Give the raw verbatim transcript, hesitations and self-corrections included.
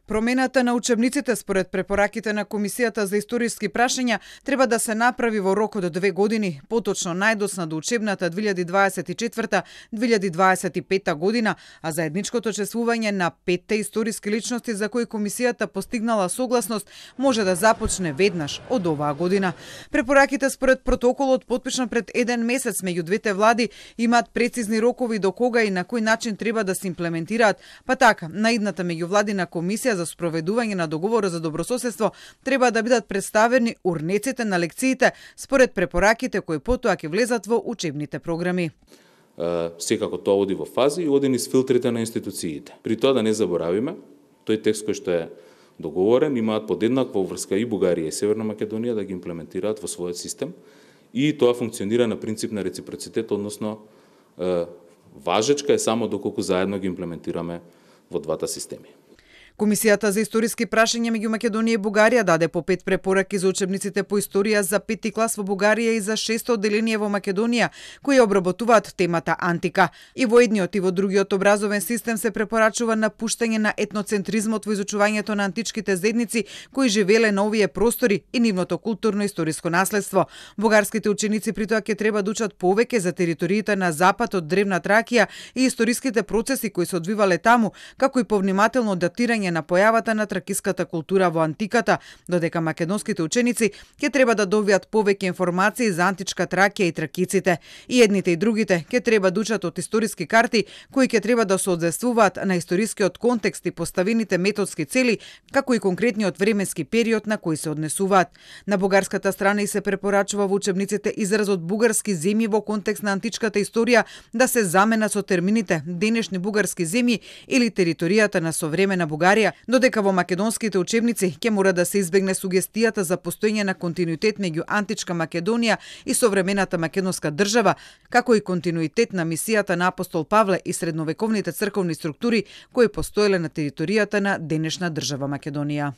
Промената на учебниците според препораките на Комисијата за историски прашања треба да се направи во рок од две години, поточно најдосна до учебната две илјади дваесет и четврта - две илјади дваесет и петта година, а заедничкото чествување на петте историски личности за кои Комисијата постигнала согласност може да започне веднаш од оваа година. Препораките според протоколот потпишан пред еден месец меѓу двете влади имаат прецизни рокови до кога и на кој начин треба да се имплементираат, па така наидната меѓувладина комисија за спроведување на договорот за добрососедство треба да бидат представени урнеците на лекциите според препораките кои потоа ќе влезат во учебните програми. Секако тоа оди во фази и оди низ филтрите на институциите. При тоа да не заборавиме, тој текст кој што е договорен имаат подеднаква врска и Бугарија и Северна Македонија да ги имплементираат во својот систем и тоа функционира на принцип на реципроцитет, односно важечка е само доколку заедно ги имплементираме во двата системи. Комисијата за историски прашања меѓу Македонија и Бугарија даде по пет препораки за учебниците по историја за пети клас во Бугарија и за шесто одделение во Македонија, кои обработуваат темата антика. И во едниот и во другиот образовен систем се препорачува напуштање на етноцентризмот во изучувањето на античките зедници кои живееле на овие простори и нивното културно-историско наследство. Бугарските ученици при тоа ќе треба да учат повеќе за териториите на запад од древна Тракија и историските процеси кои се одвивале таму, како и повнимателно датирање на појавата на тракиската култура во антиката, додека македонските ученици ќе треба да добијат повеќе информации за античка Тракија и тракиците. И едните и другите ќе треба да учат од историски карти кои ќе треба да се одзвестуваат на историскиот контекст и поставените методски цели, како и конкретниот временски период на кој се однесуваат. На бугарската страна и се препорачува во учебниците изразот бугарски земји во контекст на античката историја да се замена со термините денешни бугарски земји или територијата на современа Бугарија, додека во македонските учебници ќе мора да се избегне сугестијата за постоење на континуитет меѓу античка Македонија и современата македонска држава, како и континуитет на мисијата на апостол Павле и средновековните црковни структури кои постоеле на територијата на денешна држава Македонија.